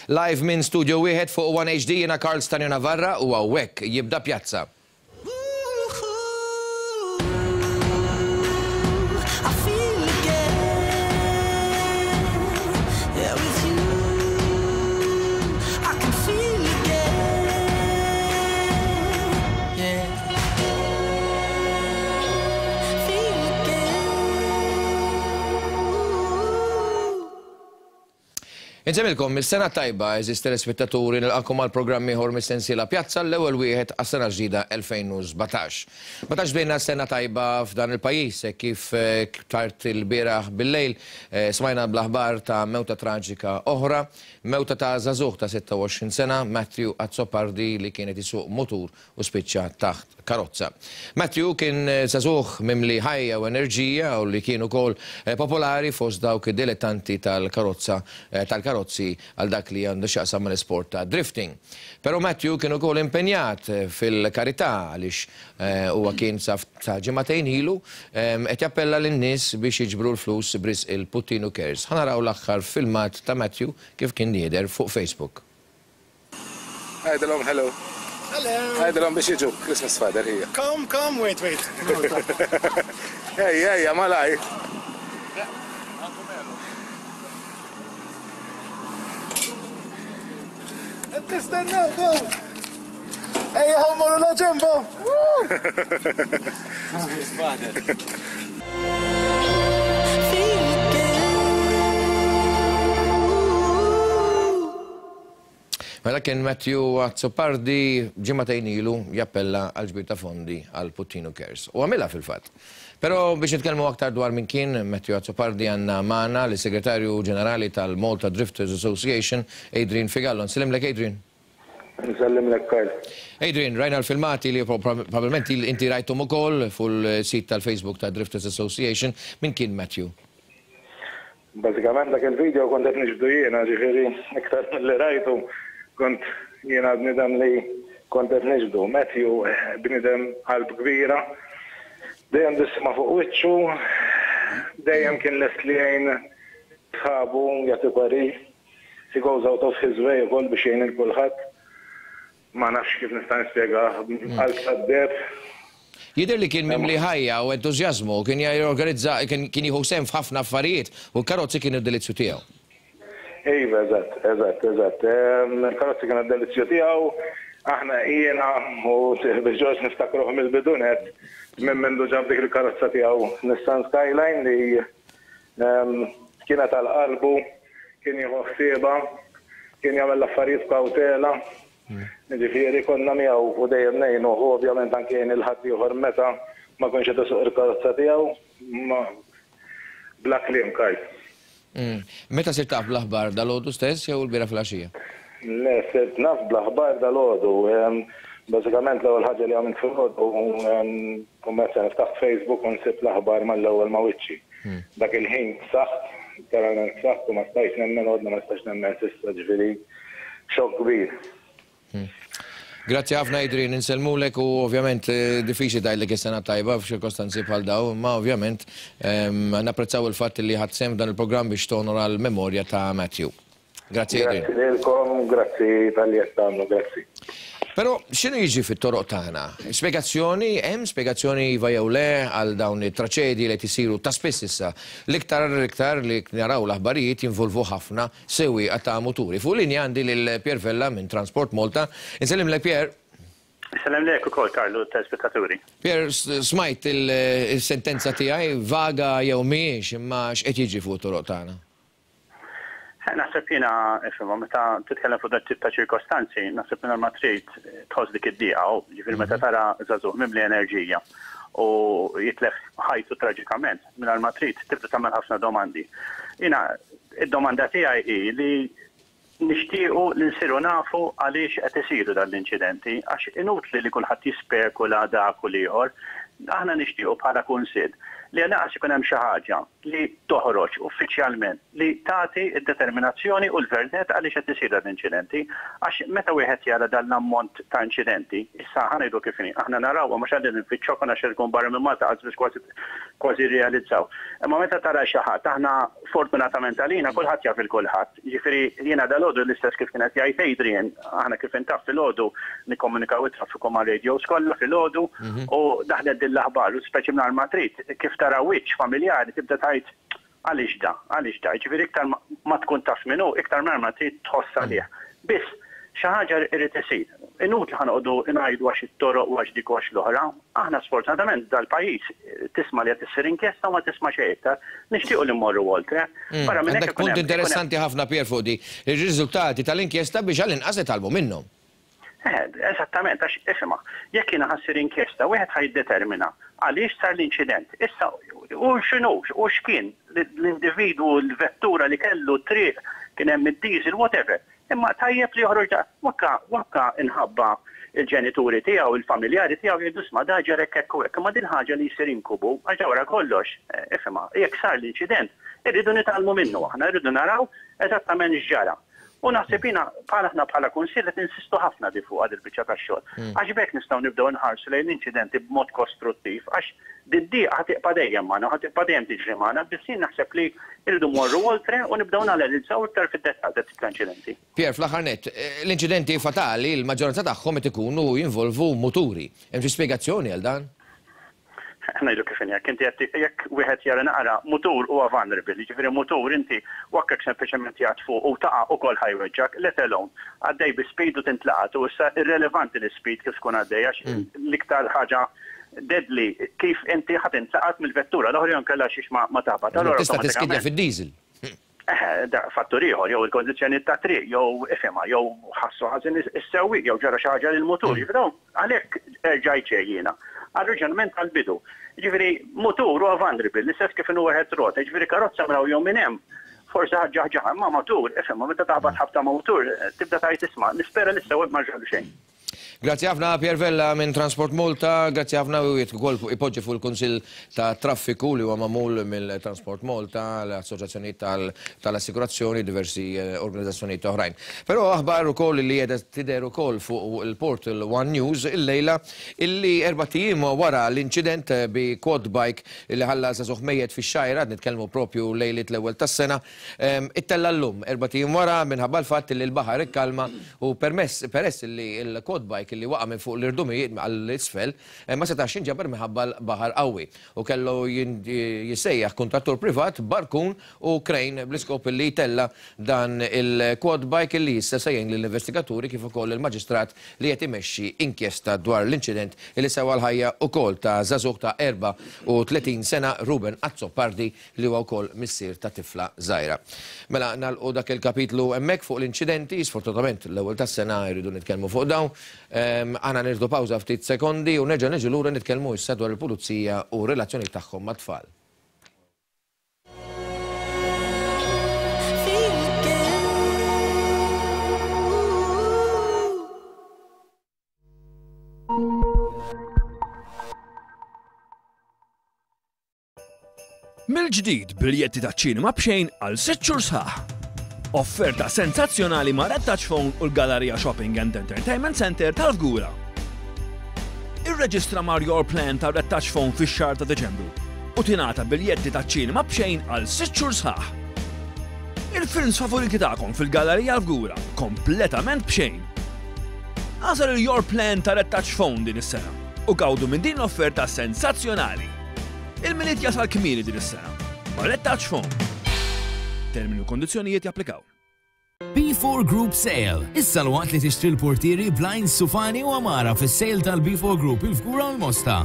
Live minn Studio Wieħed fuq One HD jiena Karl Stanio Navarra u hawnhekk jibda Pjazza. Insemmilkom is-sena tajba, eżis telespettaturi, nilqakom għal programm ieħor mis-sensiela Pjazza l-ewwel wieħed għas-sena ġdida 2017. Ma tantx bdejna sena tajba f'dan il-pajjiż hekk kif eh, tard il-bieraħ bil-lejl eh, smajna bl-aħbar ta' mewta traġika oħra, mewta ta' żagħżugħ ta' 26 sena, Matthew Azzopardi li kien qed isuq mutur u spiċċa taħt karozza. Matthew kien żagħżugħ mimli ħajja u enerġija u li kien ukoll popolari fost dawk id-dilettanti tal-karozza tal-karozzi għal dak li għandu x'jaqsam mal-isport ta' drifting. Però Matthew kien ukoll impenjat fil-karità għaliex huwa kien sa ġimagħtejn ilu qed jappella lin-nies biex jiġbru l-flus b'risq il-Puttinu Cares. Ħa naraw l-aħħar filmat ta' Matthew kif kien jidher fuq Facebook. Għidilhom hello. Hello. Għidilhom biex jiġu, Christmas Father hija. Come, come, wait, wait. Ejja, ejja, malaj. Qed nistennew, go. Ejja, ħa mmorru la ġembo. Christmas Father. Mela kien Matthew Azzopardi ġimagħtejn ilu jappella għal ġbir ta' fondi għal Puttinu Cares. U għamilha fil-fatt. Però biex nitkellmu aktar dwar min kien Matthew Azzopardi għandna magħna lis-Segretarju Ġenerali tal-Malta Drifters Association, Adrian Figallo. Nsellimlek Adrian. Nsellimlek Karl. Adrian, rajna l-filmati li probabbilment inti rajthom ukoll fuq il-sit tal-Facebook ta' Drifters Association. Min kien Matthew? Bażikament dak il-video kont qed niġbdu jiena, ġifieri iktar milli rajtu kont jiena bniedem li kont qed niġbdu. Matthew bniedem qalb kbira, dejjem tbissima fuq wiċċu, dejjem kien lest li jgħin sħabu, jagħti parir. He goes out of his way ukoll biex jgħin lil kulħadd. Ma nafx kif nista' nispjegah, qalb tad-deheb. Jidher li kien mimli ħajja u entużjażmu, kien jorganizza, kien jieħu sehem f'ħafna affarijiet u l-karozzi kienu d-delizzju tiegħu. Iva, eżatt, eżatt, eżatt. Il-karozzi kienu d-delizzju tiegħu. Aħna jiena u sieħbi Ġorġ niftakruh mill-bidu nett, minn mindu ġab dik il-karozza tiegħu Nissan Skyline li Kienet għal qalbu, kien jieħu ħsiebha, kien jagħmel l-affarijiet b'kawtela. Jiġifieri konna miegħu u dejjem ngħinuh u ovvjament anke jgħin lil ħaddieħor meta ma jkunx qed isuq il-karozza tiegħu. Bla kliem, Karl. Meta sirt taf bl-aħbar, dalgħodu stess jew ilbieraħ filgħaxija? Le, sirt naf bl-aħbar dalgħodu. Bażikament l-ewwel ħaġa li għamilt filgħodu Kummerċjali ftaħt Facebook u nsib l-aħbar mal-ewwel ma' wiċċi. Dak il-ħin ksaħt, letteralment ksaħt u ma stajtx nemmen u għadni ma nistax nemmen s'issa, ġifieri xokk kbir. Grazzi ħafna Adrian, insellmulek u ovvjament diffiċli tgħidlek is-sena t-tajba f'ċirkostanzi bħal dawn, imma ovvjament napprezzaw il-fatt li ħadt sehem f'dan il-programm biex tonora l-memorja ta' Matthew. Grazzi Adrian. Grazzi lilkom, grazzi talli qed tagħmlu, grazzi. Però x'inhu jiġri fit-toroq tagħna? Spjegazzjoni, hemm spjegazzjoni iva jew le għal dawn it-traċedji li qed isiru ta' spiss issa. L-iktar l-iktar li naraw l-aħbarijiet jinvolvu ħafna sewwieqa ta' muturi. Fuq linja għandi lil Pierre Vella minn Transport Malta. Insellimlek Pierre. Insellimlek ukoll Karlu u t-telespettaturi. Pierre, smajt il-sentenza tiegħi, vaga jew mhijiex, imma x'qed jiġri fuq it-toroq tagħna? Naħseb jiena, ifhimha, meta titkellem fuq dat tip ta' ċirkostanzi, naħseb mingħajr ma trid tħoss dik id-dieqa, u ġifieri meta tara żagħżugħ mimli enerġija u jitlef ħajtu traġikament, mingħajr ma trid tibda tagħmel ħafna domandi. Jiena id-domanda tiegħi hi li nixtiequ li nsiru nafu għaliex qed isiru dan l-inċidenti, għax inutli li kulħadd jispekula dak u l-ieħor. Aħna nixtiequ bħala Kunsill li għall-inqas ikun hemm xi ħaġa li toħroġ uffiċjalment li tagħti d-determinazzjoni u l-verdett għaliex qed isir dan l-inċidenti. Għax meta wieħed jara dan l-ammont ta' inċidenti, issa ħa ngħidu kif inhi, aħna narawhom għax qegħdin nfittxuhom għax ikun barra minn Malta qas biss kważi kważi jirrealizzaw. Imma meta tara xi ħadd, aħna fortunatament għalina kulħadd jaf 'il kulħadd. Jiġifieri jiena dalgħodu l-istess kif kien qed jgħid Adrian, aħna kif intaf filgħodu nikkomunikaw it-traffiku mar-radios kollha filgħodu u daħlet din l-aħbar u speċi mingħajr ma trid kif tara wiċċ familjari tibda tgħid għaliex da, għaliex da. Jiġifieri iktar ma tkun taf min hu, iktar mingħajr ma trid tħoss għalih. Biss xi ħaġa jrid isir. Inutli ħa noqogħdu ngħidu għax it-toroq u għax dik u għax l-oħra. Aħna sfortunatament dal-pajjiż tisma' li qed issir inkjesta u ma tisma' xejn iktar. Nixtiequ li mmorru oltre. Barra minn hekk Għandek punt interessanti ħafna Pier fuq di. Ir-riżultati tal-inkjesta biex għall-inqas nitgħallmu minnhom. Eh, eżattament, għax isma', jekk jiena ħa ssir inkjesta, wieħed ħa jiddetermina għaliex sar l-inċident. Issa, u x'inhu, u x'kien l-individwu, l-vettura li kellu, t-triq, kien hemm id-diesel, whatever. Imma tajjeb li joħroġ da, wakka, wakka inħabba il-ġenituri tiegħu, il-familjari tiegħu jgħidu isma' da ġara hekk hekk u hekk. Imma din ħaġa li jsir inkubu, għax da wara kollox, ifhimha, jekk sar l-inċident, irridu nitgħallmu minnu aħna, irridu naraw eżattament x'ġara. U naħseb jiena bħala aħna bħala Kunsill qed ninsistu ħafna di fuqha dil-biċċa tax-xogħol. Għax b'hekk nistgħu nibdew inħarsu lejn l-inċidenti b'mod kostruttiv għax did-dieqa ħa tibqa' dejjem magħna u ħa tibqa' dejjem tiġri magħna, biss jien naħseb li rridu mmorru oltre u nibdew nanalizzaw iktar fid-dettall dat-tip ta' inċidenti. Pierre, fl-aħħar nett, l-inċidenti fatali l-maġġoranza tagħhom qed ikunu jinvolvu muturi. Hemm xi spjegazzjoni għal dan? Ngħidu kif inhi, jekk inti qed jekk wieħed jara naqra, mutur huwa vulnerable, jiġifieri mutur inti wakkek sempliċement jgħadd fuq u taqa' ukoll ħa jweġġgħek, let alone għaddej bi speed u tintlaqat u issa irrelevanti l-ispeed kif tkun għaddej għax l-iktar ħaġa deadly kif inti ħa tintlaqat mill-vettura l-oħra jew inkella xiex ma taħbat. Allura Tista' tiskidja fid-diesel. Eħe, da fattur ieħor, jew il-kondizzjonijiet tat-triq, jew ifhimha, jew ħassu ħażin is-sewwieq, jew ġara xi ħaġa lill-mutur. Jiġifieri dawn għalhekk erġajt xejn jiena. Għar-raġunament tal-bidu. Jiġifieri mutur huwa vulnerable, l-istess kif inhu wieħed rota, jiġifieri karozza minn hawn jew minn hemm forsi ħa ġġaħġaħha, imma mutur, ifhimha, meta taħbat ħabta ma' mutur, tibda tgħid isma' nispera li s-sewwieq ma ġralu xejn. Grazzi ħafna Pierre Vella minn Transport Malta, grazzi ħafna u jrid ukoll ipoġġi fuq il-Kunsill ta' Traffiku li huwa magħmul mill-Transport Malta, l-assoċjazzjonijiet tal-assikurazzjoni, diversi eh, organizzazzjonijiet oħrajn. Però aħbar ukoll li qiegħda tidher ukoll fuq il-portal One News illejla illi erba' ijiem wara l-inċident bi quad bike li ħalla żagħżugħ mejjet fix-Xgħajra, qed nitkellmu propju lejliet l-ewwel tas-sena, Ittella' llum, erbat ijiem wara, minħabba l-fatt li l-baħar ikkalma u permess peress li l-quad bike li waqa' minn fuq l-irdumijiet għal isfel ma setax jinġabar minħabba l-baħar qawwi u kellu jissejjaħ kuntrattur privat b'barkun u crane bl-iskop li jtella' dan il-quad bike li issa se jgħin lill-investigaturi kif ukoll lill-Maġistrat li qed imexxi inkjesta dwar l-inċident li sewa l-ħajja ukoll ta' żagħżugħ ta' 34 sena Ruben Azzopardi li huwa wkoll missier ta' tifla żgħira. Mela nagħlqu dak il-kapitlu hemmhekk fuq l-inċidenti, sfortunatament l-ewwel tas-sena jridu nitkellmu fuq dawn. Aħna nieħdu pawża ftit sekondi u nerġa' niġu lura nitkellmu issa dwar il-pulizija u r-relazzjonijiet tagħhom mat-tfal. Mill-ġdid biljetti taċ-ċinema b'xejn għal sitt xhur sħaħ. Offerta sensazzjonali ma' Red Touch Phone u l-Galleria Shopping and Entertainment Center tal-Fgura. Irreġistra mar Your Plan ta' Red Touch Phone fix-xahar ta' Deċembru u tingħata biljetti taċ-ċinema b'xejn għal sitt xhur sħaħ. Il-films favoriti tagħkom fil-Gallerija l-Fgura kompletament b'xejn. Agħżel il-Your Plan ta' Red Touch Phone din is-sena u gawdu minn din l-offerta sensazzjonali. Il-Milied jasal kmieni din is-sena ma' Red Touch Phone. Termini u kondizzjonijiet japplikaw. B4 Group Sale. Issa l-waqt li tixtri l-portieri, blinds, sufani u għamara fis-sale tal-B4 Group il-Fgura u l-Mosta.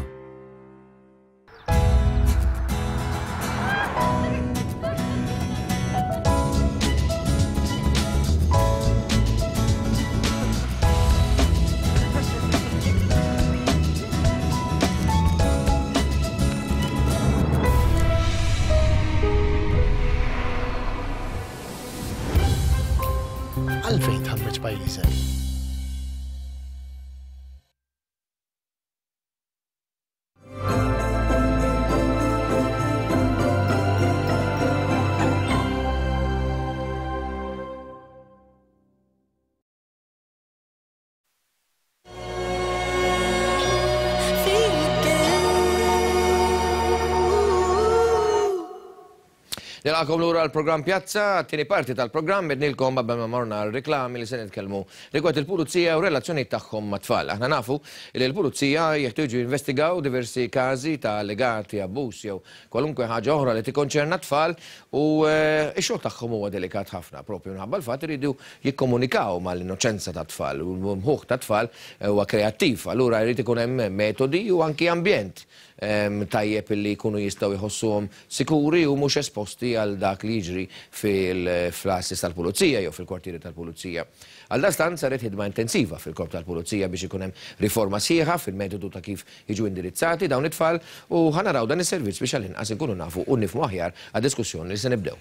Għalfejn tħammeġ pajjiżek? Nilqakom lura l-programm Pjazza, t-tieni parti tal-programm ednilkom qabel ma morna r-reklami li se nitkellmu rigward il-pulizija u relazzjonijiet tagħhom mat-tfal. Aħna nafu li l-pulizija jeħtieġu jinvestigaw diversi każi ta' allegati abbuż jew kwalunkwe ħaġa oħra li tikkonċerna t-tfal u x-xogħol tagħhom huwa delikat ħafna propju minħabba l-fatt iridu jikkomunikaw mal-innoċenza tat-tfal u l-mħuħ tat-tfal huwa kreattiv, allura jrid ikun hemm metodi u anki ambjent tajjeb li jkunu jistgħu jħossuhom sikuri u mhux esposti għal dak li jiġri fil-fl-għassis tal-pulizija jew fil-kwartieri tal-pulizija. Għaldaqstant saret ħidma intensiva fil-Korp tal-Pulizija biex ikun hemm riforma sħiħa fil-metodu ta' kif jiġu indirizzati dawn it-tfal u ħa naraw dan is-servizz biex għall-inqas inkunu nafu u nifhmu aħjar għad-diskussjoni li se nibdew.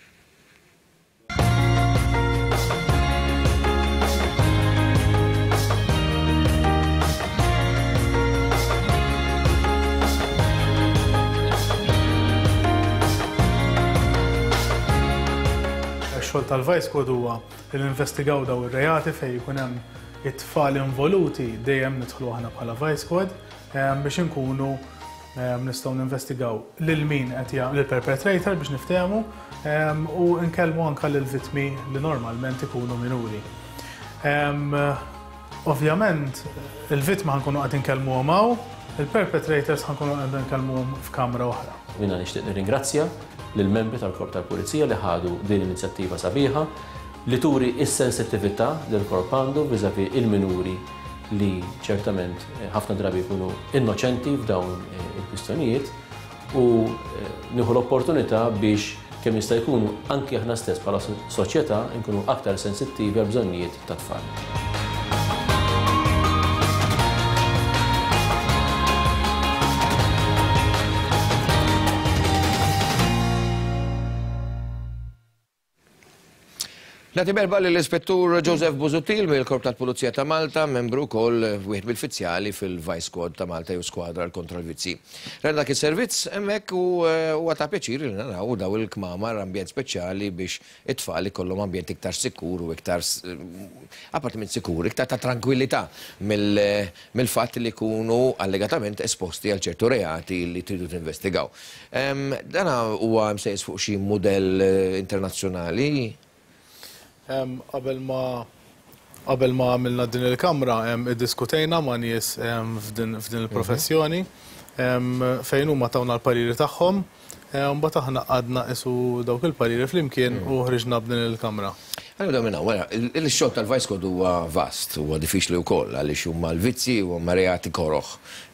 Ix-xogħol tal-Vice Squad huwa li ninvestigaw daw ir-reati fejn ikun hemm it-tfal involuti dejjem nidħlu aħna bħala Vice Squad biex inkunu Nistgħu ninvestigaw lil min qed jagħmel il-perpetrator biex niftehmu u nkellmu anke lill-vittmi li normalment ikunu minuri. Ovvjament, il-vittma ħa nkunu qed inkellmuhom hawn, il-perpetrators ħa nkunu qed inkellmuhom f'kamra oħra. Jiena nixtieq nirringrazzja lill-membri tal-Korp tal-Pulizija li ħadu din l-inizjattiva sabiħa li turi s-sensittività li l-Korp għandu vis-à-vis il-minuri li ċertament ħafna drabi jkunu innoċenti f'dawn il-kwistjonijiet u nieħu l-opportunità biex kemm jista' jkun anki aħna stess bħala soċjetà nkunu aktar sensittivi għall-bżonnijiet tat-tfal. Nagħti merħba lill-Ispettur Joseph Busuttil mill-Korp tal-Pulizija ta' Malta, membru wkoll wieħed mill-fizzjali fil-Vice Squad ta' Malta jew Skwadra għal kontra l-Vizzji. Rajna dak is-servizz hemmhekk u huwa ta' pjaċir li naraw daw il-kmamar ambjent speċjali biex it-tfal ikollhom ambjent iktar sikur u iktar apparti minn sikur, iktar ta' trankwillità mill-fatt li jkunu allegatament esposti għal ċertu reati li tridu tinvestigaw. Dan huwa msejjes fuq xi mudell internazzjonali? Qabel ma qabel ma għamilna din il-kamra iddiskutejna ma' nies f'din il-professjoni fejn huma tawna l-pariri tagħhom. Mbagħad aħna qgħadna qisu dawk il-pariri flimkien u ħriġna b'din il-kamra. Ħa nibdew minn hawn. Mela, ix-xogħol tal-Vice Code huwa vast, huwa diffiċli wkoll għaliex huma l-vizzji u huma reati koroh.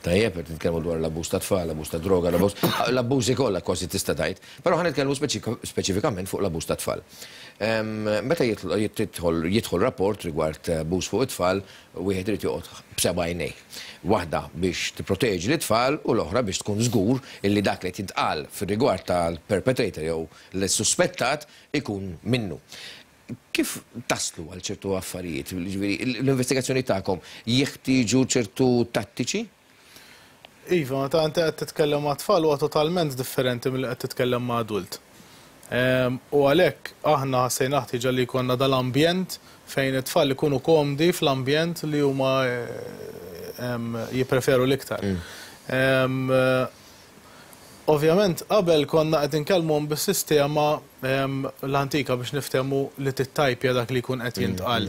Tajjeb, qed nitkellmu dwar l-abbuż ta' tfal, l-abbuż ta' droga, l-abbuż, l-abbużi kollha kważi tista' tgħid. Però ħa nitkellmu speċifikament fuq l-abbuż ta' tfal. Meta jidħol jidħol rapport rigward abbuż fuq it-tfal, wieħed irid joqgħod b'seba' għajnejn. Waħda biex tipproteġi lit-tfal u l-oħra biex tkun żgur illi dak li qed jintqal fir-rigward tal-perpetrator jew l-suspettat ikun minnu. Kif taslu għal ċertu affarijiet? Jiġifieri l-investigazzjonijiet tagħkom jeħtieġu ċertu tattiċi? Iva, meta inti qed titkellem ma' tfal huwa totalment differenti milli qed titkellem ma' adult. U għalhekk aħna ħassejna ħtieġa li jkollna dal-ambjent fejn it-tfal ikunu komdi fl-ambjent li huma jippreferu l-iktar. Ovvjament qabel konna qed inkellmuhom bis-sistema l-antika biex niftehmu li tittajpja dak li jkun qed jintqal.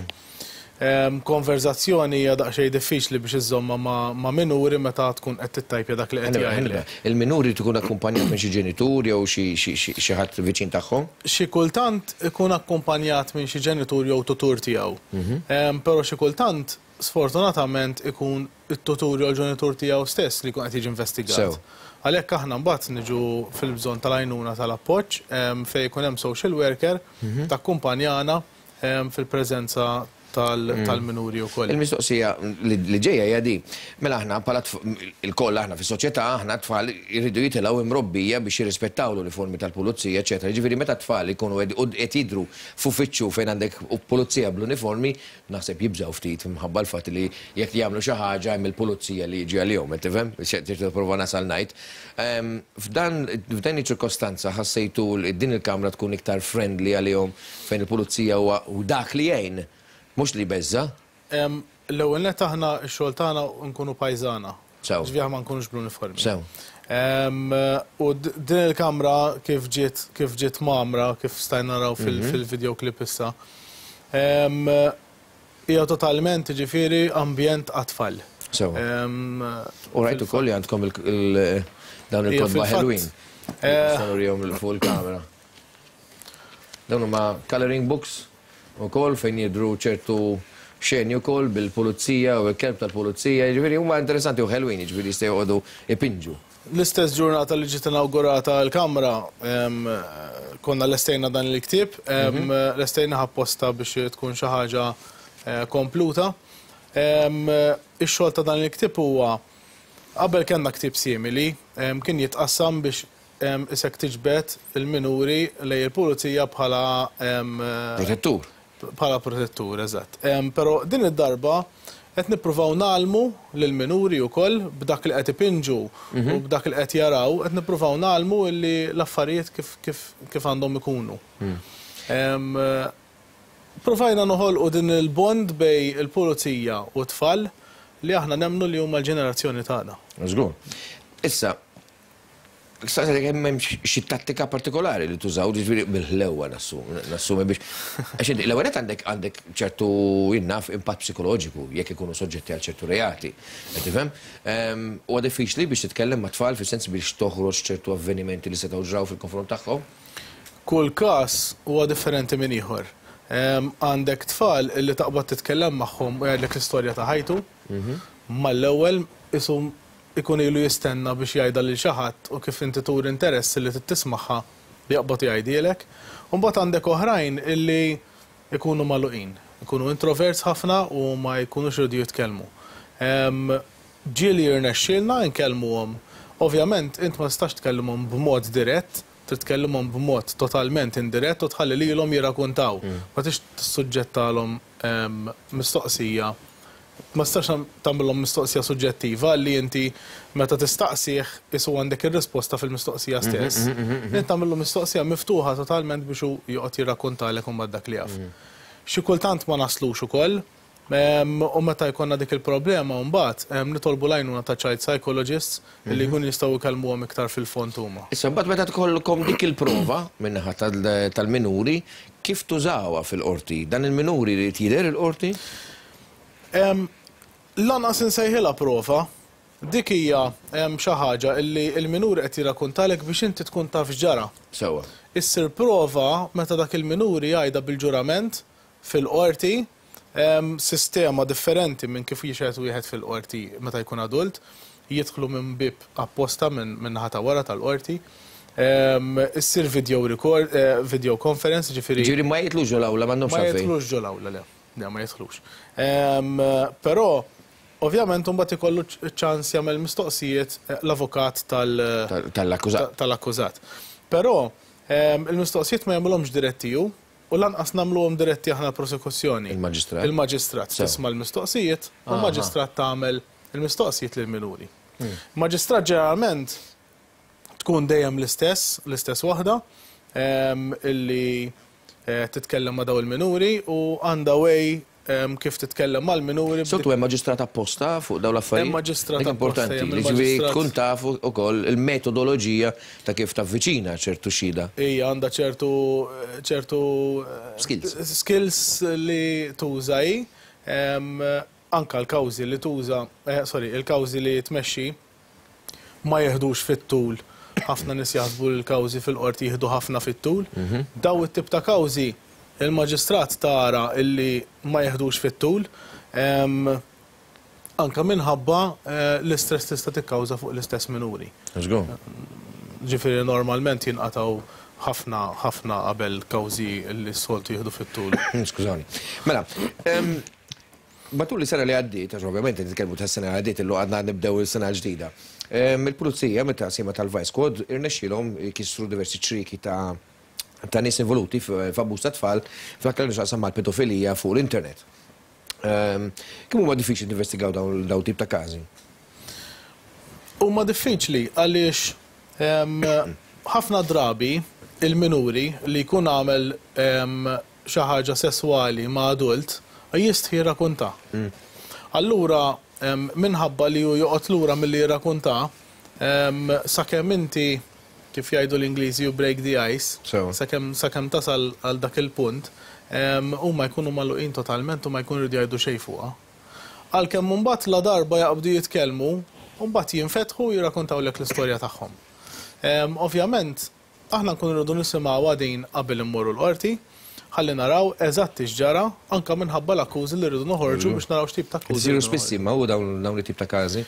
Konverżazzjoni hija daqsxejn diffiċli biex iżżommha ma' minuri meta tkun qed tittajpja dak li qed jgħidlek. Il-minuri jrid ikun akkumpanjat minn xi ġenitur jew xi ħadd viċin tagħhom? Xi kultant ikun akkumpanjat minn xi ġenitur jew tutur tiegħu. Però xi kultant sfortunatament ikun it-tutur jew l-ġenitur tiegħu stess li jkun qed jiġi investigat. Għalhekk aħna mbagħad niġu fil-bżonn tal-għajnuna tal-appoġġ fejn ikun hemm social worker takkumpanjana fil-preżenza tal-minuri wkoll. Il-mistoqsija li ġejja hija din. Mela aħna bħala ilkoll aħna fis-soċjetà aħna t-tfal iridu jitilgħu imrobbija biex jirrispettaw l-uniformi tal-pulizija eċċetera. Jiġifieri meta t-tfal ikunu qed jidhru f'uffiċċju fejn għandek pulizija bl-uniformi, Naħseb jibżgħu ftit minħabba l-fatt li jekk jagħmlu xi ħaġa hemm il-pulizija li jiġi għalihom, qed tifhem? X'qed nipprova nasal ngħid. F'dan f'din iċ-ċirkostanza ħassejtu li din il-kamra tkun iktar friendly għalihom fejn il-pulizija huwa dak li jgħin, mhux li jbeżża'? L-ewwel nett aħna x-xogħol tagħna nkunu pajżana. Sew. Ġifieri ma nkunux bl-uniformi. Sew. U din il-kamra kif ġiet kif ġiet mgħammra, kif stajna naraw fil-video clip issa, hija totalment jiġifieri ambjent għat-tfal. Sew. U rajt ukoll li għandkom dawn il-kotba ħelwin. Nista' nurihom fuq il-kamera. Dawn huma coloring books ukoll fejn jidhru ċertu xeni wkoll bil-pulizija u l-kelb tal-pulizija, jiġifieri huma interessanti u ħelwin, jiġifieri jistgħu joqogħdu jpinġu. L-istess ġurnata li ġiet inawgurata l-kamra, konna lestejna dan il-ktieb, lestejnih apposta biex tkun xi ħaġa kompluta. Ix-xogħol ta' dan il-ktieb huwa, qabel kellna ktieb simili, kien jitqassam biex isek tiġbed il-minuri lejn il-pulizija bħala Protettur. Bħala protettur, eżatt. Però din id-darba qed nippruvaw ngħallmu lill-minuri wkoll b'dak li qed ipinġu u b'dak li qed jaraw, qed nippruvaw ngħallmu li l-affarijiet kif kif kif għandhom ikunu. Ppruvajna noħolqu din il-bond bejn il-pulizija u t-tfal li aħna nemmnu li huma l-ġenerazzjoni tagħna. Żgur. Issa, Staqsejtek hemm hemmx xi tattika partikolari li tużaw, jiġifieri bil-ħlewwa nassumi biex. Għax inti l-ewwel nett għandek għandek ċertu jien naf impatt psikoloġiku jekk ikunu soġġetti għal ċertu reati. Qed tifhem? Huwa diffiċli biex titkellem mat-tfal fis-sens biex toħroġ ċertu avvenimenti li setgħu ġraw fil-konfront tagħhom? Kull każ huwa differenti minn ieħor. Għandek tfal li taqbad titkellem magħhom u jgħidlek l-istorja ta' ħajtu, mal-ewwel qisu ikun ilu jistenna biex jgħidha lil xi ħadd u kif inti turi interess illi trid tismagħha jaqbad u jgħidhielek. U mbagħad għandek oħrajn illi jkunu magħluqin, ikunu introverts ħafna u ma jkunux iridu jitkellmu. Ġieli jirnexxielna nkellmuhom. Ovvjament int ma tistax tkellimhom b'mod dirett, trid tkellimhom b'mod totalment indirett u tħalli lilhom jirrakuntaw. Ma tridx tissuġġettalhom mistoqsija Ma tistax tagħmilhom mistoqsija suġġettiva li inti meta tistaqsih qisu għandek ir-risposta fil-mistoqsija stess. Int tagħmillu mistoqsija miftuħa totalment biex hu joqgħod jirrakkontalek imbagħad dak li jaf. Xi kultant ma naslux ukoll u meta jkollna dik il-problema mbagħad nitolbu l-għajnuna ta' child psychologists li jkunu jistgħu jkellmuhom iktar fil-fond huma. Issa mbagħad meta tkollkom dik il-prova min-naħa tal-minuri, kif tużawha fil-qorti? Dan il-minuri jrid jidher il-qorti? Lanqas insejħilha prova. Dik hija xi ħaġa li l-minuri qed jirrakuntalek biex inti tkun taf x'ġara. Sewwa. Issir prova meta dak il-minuri jgħidha bil-ġurament fil-qorti, sistema differenti minn kif jixhed wieħed fil-qorti meta jkun adult, jidħlu minn bieb apposta min-naħa ta' wara tal-qorti. Issir video record, video conference, jiġifieri. Jiġifieri ma jidħlux ġol-awla, m'għandhomx għalfejn. Ma jidħlux ġol-awla, le. Le, ma jidħlux. Però, ovvjament, imbagħad ikollu ċ-ċans jagħmel mistoqsijiet l-avukat tal- Tal-akkużat. Tal-akkużat. Però, il-mistoqsijiet ma jagħmilhomx diretti hu, u lanqas nagħmluhom diretti aħna l-prosekuzzjoni. Il-maġistrat. Il-maġistrat tisma' l-mistoqsijiet u l-maġistrat tagħmel il-mistoqsijiet lill-minuri. Il-maġistrat ġeneralment tkun dejjem l-istess, l-istess waħda, illi titkellem ma' dawn il-minuri u għandha way kif titkellem mal-minuri. Soltu hemm maġistrat apposta fuq dawn l-affarijiet? Hemm maġistrat apposta. Importanti, jiġifieri tkun taf ukoll il-metodoloġija ta' kif tavviċina ċertu xhieda. Hija għandha ċertu ċertu skills. Skills li tuża hi, anke l-kawżi li tuża, sorry, il-kawżi li tmexxi ma jiħdux fit-tul. Ħafna nies jaħsbu li l-kawżi fil-qorti jieħdu ħafna fit-tul. Dawn it-tip ta' kawżi il-maġistrat tara illi ma jiħdux fit-tul, anke minħabba l-istress li tista' tikkawża fuq l-istess minuri. Żgur. Ġifieri normalment jinqatgħu ħafna ħafna qabel kawżi li s-soltu jieħdu fit-tul. Skużani. Mela, Matul is-sena li għaddiet, għax ovvjament qed nitkellmu tas-sena li għaddiet illum għadna nibdew is-sena l-ġdida, il-Pulizija mit-taqsima tal-Vice Squad irnexxielhom jkissru diversi ċrieki ta' ta' nies involuti f'abbuż ta' tfal f'dak li għandu x'jaqsam mal-pedofilija fuq l-internet. Kemm huma diffiċli tinvestigaw dawn dawn tip ta' każi? Huma diffiċli għaliex ħafna drabi il-minuri li jkun għamel xi ħaġa sesswali ma' adult, jistħi jirrakunta. Allura Minħabba li hu joqgħod lura milli jirrakunta, sakemm inti, kif jgħidu l-Ingliżi, you break the ice, sakemm sakemm tasal għal dak il-punt, huma jkunu magħluqin totalment u ma jkunu jridu jgħidu xejn fuqha. Għalkemm imbagħad ladarba jaqbdu jitkellmu, imbagħad jinfetħu u jirrakuntawlek l-istorja tagħhom. Ovvjament, Aħna nkunu rridu nisimgħuha din qabel immorru l-Qorti, ħalli naraw eżatt x'ġara, anke minħabba l-akkużi li rridu noħorġu biex naraw x'tip ta' akkużi Isiru spiss imma hu dawn it-tip ta' każi?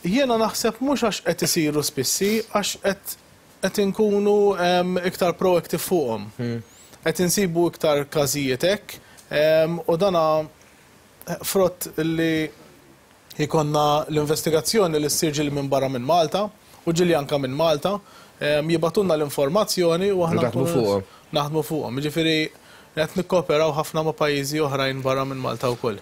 Jiena naħseb mhux għax qed isiru spissi, għax qed qed inkunu iktar proactive fuqhom. Qed insibu iktar każijiet hekk u dana frott li Jkollna l-investigazzjoni li ssir ġieli minn barra minn Malta u ġieli anke minn Malta. Jibagħtulna l-informazzjoni u aħna Naħdmu fuqhom. Naħdmu fuqhom. Jiġifieri qed nikkooperaw ħafna ma' pajjiżi oħrajn barra minn Malta wkoll.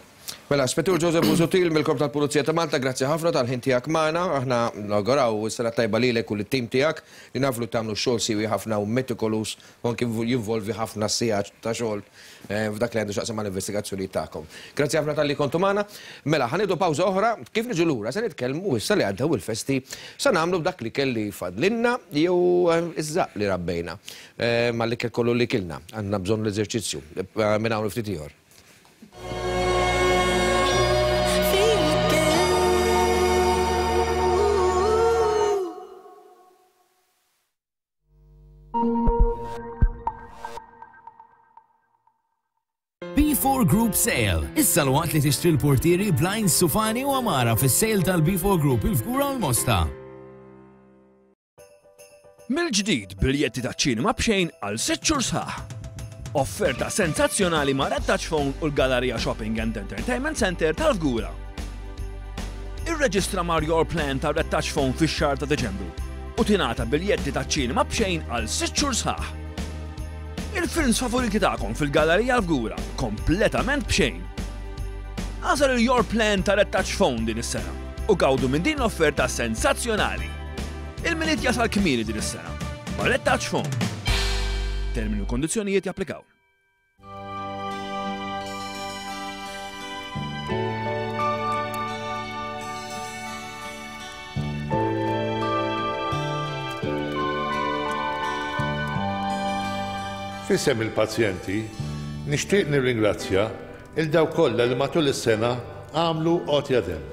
Mela, Spettur Joseph Busuttil mill-Korp tal-Pulizija ta' Malta, grazzi ħafna tal-ħin tiegħek magħna. Aħna nawguraw is-sena t-tajba lilek u lit-tim tiegħek li nafu li tagħmlu xogħol siewi ħafna u metikoluż u anki jinvolvi ħafna sigħat ta' xogħol f'dak li għandu x'jaqsam mal-investigazzjonijiet tagħkom. Grazzi ħafna talli kontu magħna. Mela, ħa nieħdu pawża oħra, kif niġu lura se nitkellmu issa li għaddew il-festi se nagħmlu b'dak l-ikel li fadlilna jew iż-żaqq li rabbejna mal-ikel kollu li kilna. Għandna bżonn l-eżerċizzju. Minn hawn u ftit ieħor. B4 Group Sale. Issa l-waqt li tixtri l-portieri, blinds, sufani u għamara fis-sale tal-B4 Group il-Fgura u l-Mosta. Mill-ġdid biljetti taċ-ċinema b'xejn għal sitt xhur sħaħ. Offerta sensazzjonali ma' Red Touch Phone u l-Galleria Shopping and Entertainment Center tal-Fgura. Irreġistra mar Your Plan ta' Red Touch Phone fix-xahar ta' Deċembru u tingħata biljetti taċ-ċinema b'xejn għal sitt xhur sħaħ. Il-films favoriti tagħkom fil-Gallerija l-Fgura kompletament b'xejn. Agħżel il-Your Plan ta' Red Touch Phone din is-sena u gawdu minn din l-offerta sensazzjonali. Il-Milied jasal kmieni din is-sena ma' Red Touch Phone. Termini u kondizzjonijiet japplikaw. F'isem il-pazjenti, nixtieq nirringrazzja 'il dawk kollha li matul is-sena għamlu għotja demm.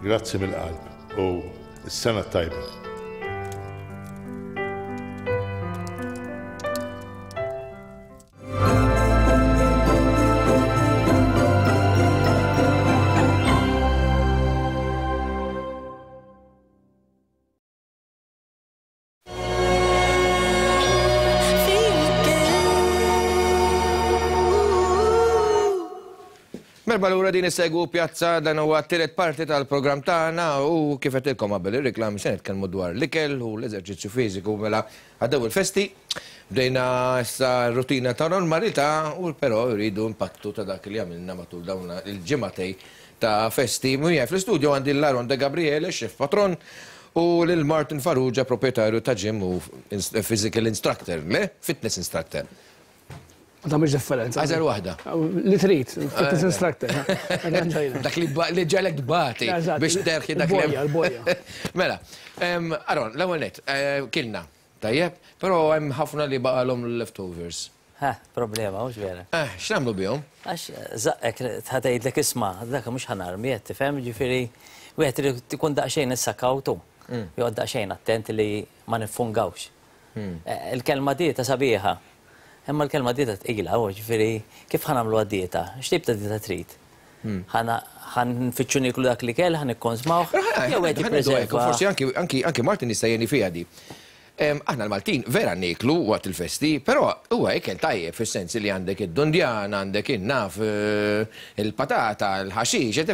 Grazzi mill-qalb u s-sena t-tajba. Merba lura din isegwu pjazza dan huwa t-tielet parti tal-programm tagħna u kif qedilkom qabel ir-reklam se nitkellmu dwar l-ikel u l-eżerċizzju fiżiku mela għaddew il-festi. Bdejna issa rutina ta' normalità u però rridu impattu ta' dak li għamilna matul dawn il-ġimagħtej ta' festi. Miegħi fl-istudio għandi lil Aaron De Gabriele, chef patron, u lil Martin Farrugia, proprjetarju ta' gym u physical instructor, le? Fitness instructor. Ma tagħmilx differenza. Għażel waħda. Li trid, fitness instructor. Dak li ġalek tbati biex terħi dak li. Il-boja. Mela, Aaron, l-ewwel nett, kilna, tajjeb, però hemm ħafna li baqalhom l-leftovers. Ha, problema, mhux vera. Eh, x'nagħmlu bihom? Għax żaqqek ħa tgħidlek isma' dak mhux ħa narmi qed tifhem, jiġifieri wieħed irid ikun daqsxejn issa kawtu. Joqgħod daqsxejn attent li ma niffungawx. Il-kelma dieta sabiħa, imma l-kelma dieta tqila, u ġifieri kif ħa nagħmluha dieta? X'tip ta' dieta trid? Ħa nfittxu nieklu dak l-ikel, ħa nikkonsmawh, jew qed jippreserva. Forsi anki Martin jista' jgħinni fiha di. Aħna l-Maltin vera nieklu waqt il-festi, però huwa ikel tajjeb fis-sens li għandek id-dundjan, għandek in-naf, il-patata, il-ħaxix,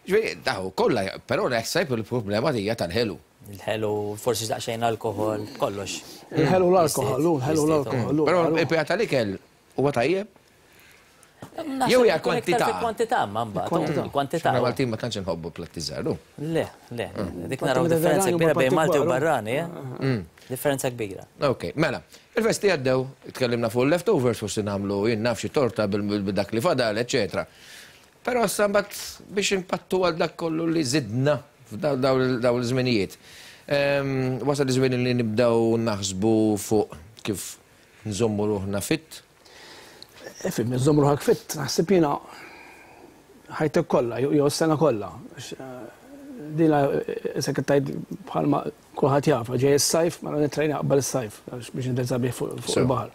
ġifieri daw kollha, però naħseb il-problema hija tal-ħelu. Il-ħelu, forsi daqsxejn alkoħol, kollox. Il-ħelu l-alkoħol, il-ħelu l-alkoħol. Però il-pija tal-ikel huwa tajjeb? Jew hija kwantità. Kwantità ma mbagħad. Kwantità. Aħna Maltin ma tantx inħobbu platti żgħar. Le, le. Dik naraw differenza kbira bejn Malti u barrani, eh? Differenza kbira. Ok, mela, il-festi għaddew, tkellimna fuq leftovers, forsi nagħmlu jien naf xi torta bil-dak li fadal, eċetera. Però issa mbagħad biex inpattu għal dak kollu li żidna f'dawn iż-żminijiet. Wasal iż-żmien li nibdew naħsbu fuq kif nżommu ruħna fit. Ifhem, iżżomm ruħek fit, naħseb jiena ħajtek kollha jew is-sena kollha. Dina issa qed tgħid bħalma kulħadd jaf, ġej is-sajf, mela nittrejna qabel is-sajf biex nidher sabiħ fuq il-baħar.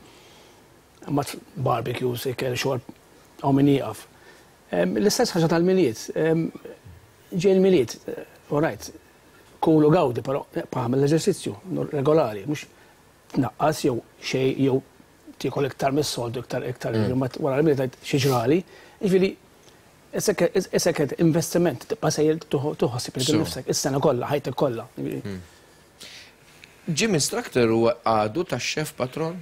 Imbagħad barbecues, ikel, xorb, hawn min jieqaf. L-istess ħaġa tal-Milied. Ġej il-Milied, all right, kul u gawdi, però ibqa' agħmel l-eżerċizzju regolari, mhux tnaqqas jew xejn jew tiekol iktar mis-soltu iktar iktar mm. wara l-Milied tgħid xi ġrali. Jiġifieri isek qed investiment tibqa' sejjer tuħossib lil nifsek is-sena kollha, ħajtek kollha. Mm. Gym instructor huwa għadu tax-chef patron?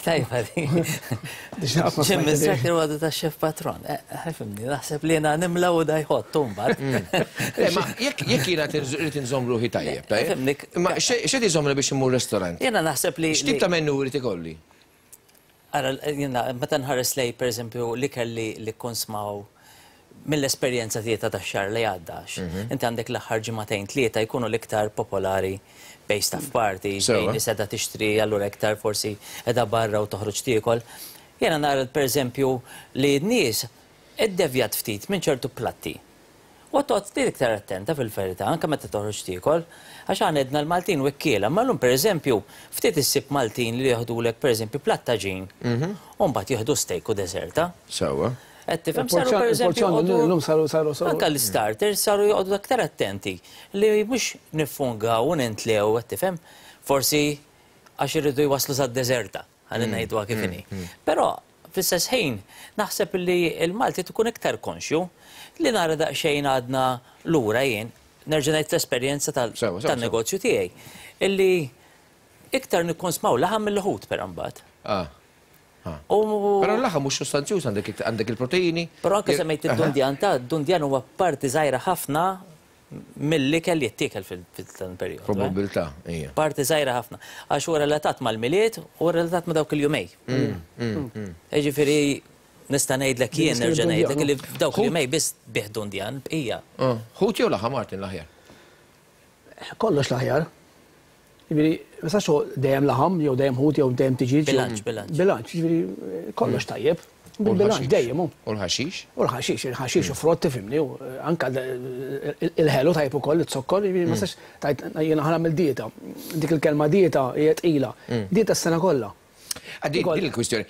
Tajba di. Gym instructor huwa għadu tax-chef patron. Eh, fimni, naħseb li jiena nimla u da jħott mbagħad. Mm. Le, ma jekk jiena rrid inżomm ruħi tajjeb, tajjeb. Ma x'qed iżommni biex immur restaurant? Jiena naħseb li. X'tip ta' menu rrid ikolli? Ara, jiena meta nħares lejn pereżempju l-ikel li li kkonsmaw mill-esperjenza tiegħi ta' dax-xahar li għadda, għax inti għandek l-aħħar ġimagħtejn tlieta jkunu l-iktar popolari bejn staff parties, bejn nies qiegħda tixtri allura iktar forsi qiegħda barra u toħroġ tiekol. Jiena nara pereżempju li n-nies iddevjat ftit minn ċertu platti. U toqgħod ftit iktar attenta fil-verità, anke meta toħroġ tiekol, għax aħna għedna l-Maltin wekkiela, imma llum pereżempju ftit issib Maltin li jeħdulek pereżempju platt tagħġin u mbagħad jieħdu steak u deżerta. Sewwa. Qed tifhem? Saru pereżempju joqogħdu anke l-istarters saru joqogħdu aktar attenti li mhux niffungaw u nintlew, qed tifhem? Forsi għax iridu jwasslu sad-deżerta. Ħalli ngħiduha kif inhi. Però fl-istess ħin naħseb li l-Malti tkun iktar konxju li nara daqsxejn għadna lura jien, nerġa' ngħid fl-esperjenza tan-negozju tiegħi, illi iktar nikkonsmaw laħam mill-ħut però mbagħad. Però l-laħam mhux sustanzjuż għandek il-proteini. Però anke semmejt id-dundjan ta' d-dundjan huwa parti żgħira ħafna mill-ikel li jittiekel fil-dan il-perjodu. Probabbiltà, ija. Parti żgħira ħafna. Għax huwa relatat mal-Milied u relatat ma' dawk il-jumej. Jiġifieri nista' ngħidlek jien nerġa' ngħidlek li f'dawk il-jumej biss bih dundjan, bqija. Ħut jew laħam Martin l-aħjar? Kollox l-aħjar. Jiġifieri, ma tistax tgħid dejjem laħam jew dejjem ħut jew dejjem tiġieġ. Bilanċ, bilanċ. Bilanċ, jiġifieri kollox tajjeb. Bil-bilanċ dejjem hu. U l-ħaxix? U l-ħaxix, il-ħaxix u frott tifhimni, anke il-ħelu tajjeb ukoll, iz-zokkor, jiġifieri ma tistax tgħid jiena ħa nagħmel dieta. Dik il-kelma dieta hija tqila. Dieta s-sena kollha. Din il-kwistjoni.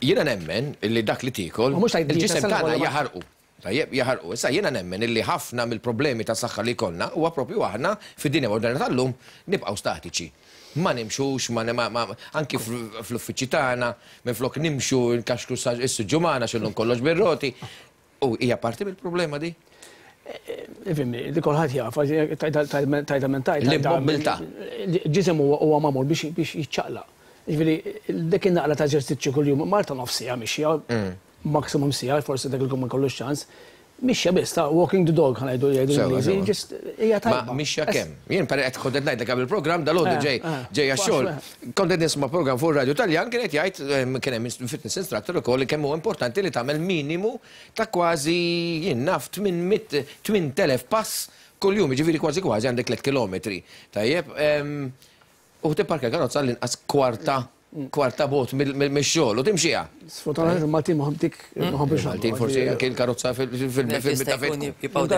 Jiena nemmen li dak li tiekol, il-ġisem tagħna jaħarqu. Tajjeb, jaħarqu. Issa jiena nemmen illi ħafna mill-problemi ta' saħħa li jkollna huwa propju aħna fid-dinja moderna tal-lum nibqgħu statiċi. Ma nimxux, ma, ma, ma, anki fl-uffiċċji tagħna, minflok nimxu nkaxkru s-siġġu magħna għax illum kollox bir-roti. U hija parti mill-problema di? Ifhimni, di kulħadd jaf, tgħidha minn tgħid. L-immobbiltà. Ġisem huwa magħmul biex jiċċaqlaq. Jiġifieri dik in-naqra ta' eżerċizzju kuljum, Malta nofs siegħa mixja, maximum siegħa, forsi dak il-jum ma jkollux ċans. Mixja biss, ta' walking the dog, ħa ngħidu jgħidu l-Ingliżi, just hija tajba. Ma mixja kemm? Jien pari qed kont qed ngħidlek qabel il-programm dalgħodu ġej ġej għax-xogħol. Kont qed nisma' programm fuq ir-radju Taljan kien qed jgħid kien hemm fitness instructor ukoll li kemm huwa importanti li tagħmel minimu ta' kważi jien naf 800 8000 pass kuljum, jiġifieri kważi kważi għandek 3 kilometri. Tajjeb, U tipparkja karozza għall-inqas kwarta kwarta bogħod mix-xogħol u timxiha. Sfortunatament il-Maltin ma dik ma ħobbux. Il-Maltin forsi anke l-karozza fil-bit ta' fejn.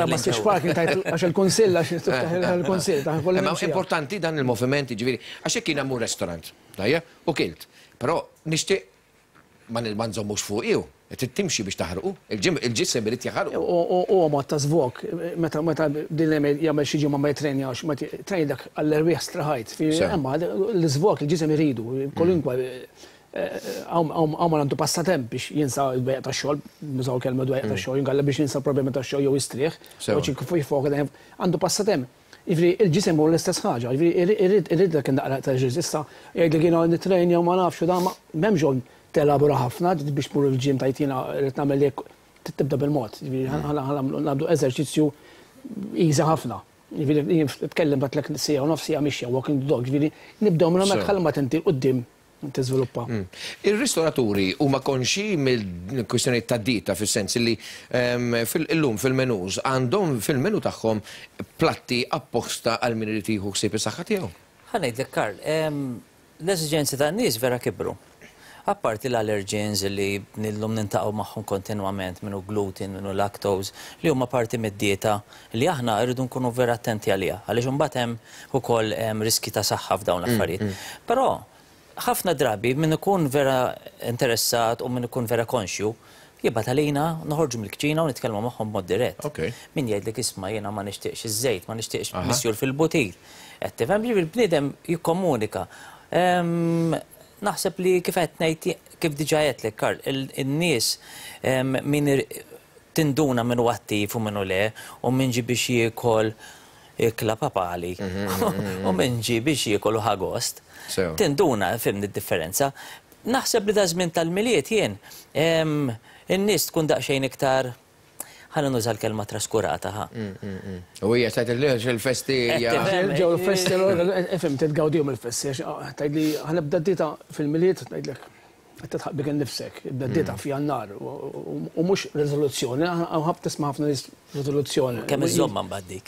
Ma ssibx parking tajt għax il-kunsill għax tiftaħ il-kunsill. Imma importanti dan il-moviment jiġifieri għax jekk jiena mmur restaurant, tajjeb, u kilt, però nixtieq Ma ma nżommux fuqi hu. Trid timxi biex taħrqu. Il-ġisem irid jaħarqu. Huwa mod ta' żvog. Meta meta din jagħmel xi ġimgħa ma jittrenjax, ma trejn dak għall-erwieħ straħajt. Imma l-iżvog il-ġisem iridu. Kwalunkwe hawn min għandu passatemp biex jinsa d-dwejjaq tax-xogħol, nużaw kelma dwejjaq tax-xogħol, inkella biex jinsa l-problemi tax-xogħol jew jistrieħ, jew jiffoka dejjem. Għandu passatemp. Jiġifieri il-ġisem hu l-istess ħaġa, jiġifieri irid irid dak in-naqra ta' eżerċizzju. Issa jgħidlek jiena nittrejnja u ma nafx u dan ma m'hemmx bżonn telabora ħafna biex tmur il-gym tgħid jiena rrid nagħmel hekk, trid tibda bil-mod. Jiġifieri ħa nagħmlu eżerċizzju easy ħafna. Jiġifieri jien tkellimt għedtlek siegħa u nofs siegħa mixja, walking the dog, jiġifieri nibdew minn hemmhekk ħalli mbagħad inti 'l quddiem. Tiżviluppa. Ir-ristoraturi huma konxji mill-kwistjonijiet tad-dieta fis-sens li illum fil-menus għandhom fil-menu tagħhom platti apposta għal min irid jieħu ħsieb is-saħħa tiegħu? Ħa ngħidlek Karl, l-eżiġenzi tan-nies vera kibru. Apparti l-allergens li illum niltaqgħu magħhom kontinwament, min hu gluten, min hu lactose, li huma parti mid-dieta li aħna rridu nkunu vera attenti għaliha, għaliex imbagħad hemm ukoll riskji ta' saħħa f'dawn l-affarijiet. Però ħafna drabi min ikun vera interessat u min ikun vera konxju, jibgħat għalina, noħorġu mill-kċina u nitkellmu magħhom b'mod dirett. Min jgħidlek isma' jiena ma nixtieqx iż-żejt, ma nixtieqx misjur fil-butir. Qed tifhem? Jiġifieri l-bniedem jikkomunika. Naħseb li kif qed ngħid, kif diġà għedtlek Karl, in-nies min tinduna min hu attiv u min hu le, u min ġie biex jiekol ikla papali u min ġie biex jiekol u ħa gost. Tinduna, fhimni d-differenza. Naħseb li daż-żmien tal-Milied jien, in-nies tkun daqsxejn iktar, ħalli nuża l-kelma traskurata, ħa. U hija tgħid li il-festi hija. Ġew il-festi, ifhem titgawdihom il-festi, għax tgħidli ħa nibda d-dieta fil-Milied, ngħidlek qed tidħaq bik innifsek, ibda d-dieta f'Jannar u mhux riżoluzzjoni, hawn ħafna tisma' ħafna nies riżoluzzjoni. Kemm iżżommha mbagħad dik.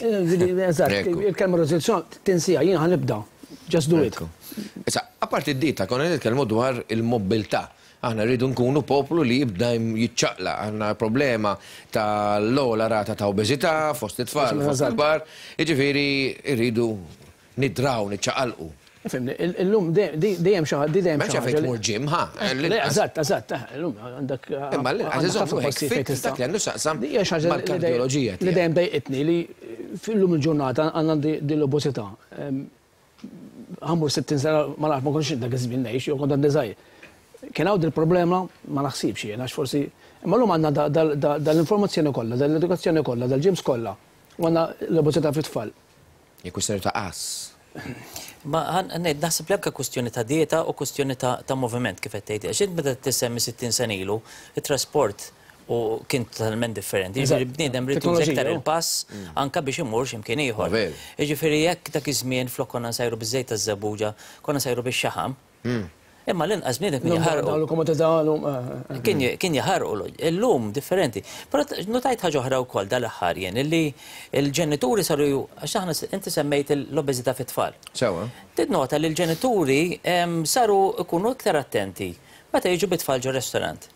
Eżatt, il-kelma riżoluzzjoni tinsiha, jien ħa nibda, just do it. Issa, apparti d-dieta, konna nitkellmu dwar il-mobbiltà. Aħna rridu nkunu poplu li jibda jiċċaqlaq. Għandna problema tal-ogħla rata ta' obeżità fost it-tfal u fost il-kbar. Jiġifieri rridu nidraw, niċċaqalqu. Ifhimni, illum dejjem xi ħadd, dejjem xi ħaġa. M'hemmx għalfejn tmur gym, ħa. Le, eżatt, eżatt, illum għandek. Imma l-inqas iżomm ruħek fit f'dak li għandu x'jaqsam mal-kardjoloġija tiegħek. Li dejjem dejqitni li illum il-ġurnata għandna din l-obeżità. Ħa mmur 60 sena ma nafx ma kontx dak iż-żmien ngħix jew kont għadni żgħir. Kien hawn dil-problema ma naħsibx jien għax forsi imma llum għandna dal-informazzjoni kollha, dal-edukazzjoni kollha, dal-gyms kollha u għandna l-obeżità fit-tfal. Hija kwistjoni ta' għażż. Ma ngħid naħseb li anke kwistjoni ta' dieta u kwistjoni ta' moviment kif qed tgħid. Għax int meta tissemmi 60 sena ilu, it-trasport u kien totalment differenti. Jiġifieri bniedem ried juża iktar il-pass anke biex imur xi mkien ieħor. Jiġifieri jekk dak iż-żmien flok konna nsajru biż-żejt taż-żebbuġa, konna nsajru bix-xaħam. Imma l-inqas bniedem kien jaħarqu. Kien jaħarqu. Illum differenti. Però notajt ħaġa oħra wkoll dal-aħħar jien illi l-ġenituri saru għax aħna inti semmejt l-obeżità fit-tfal. Sewwa. Tinnota li l-ġenituri saru jkunu iktar attenti meta jiġu bit-tfal ġo restaurant.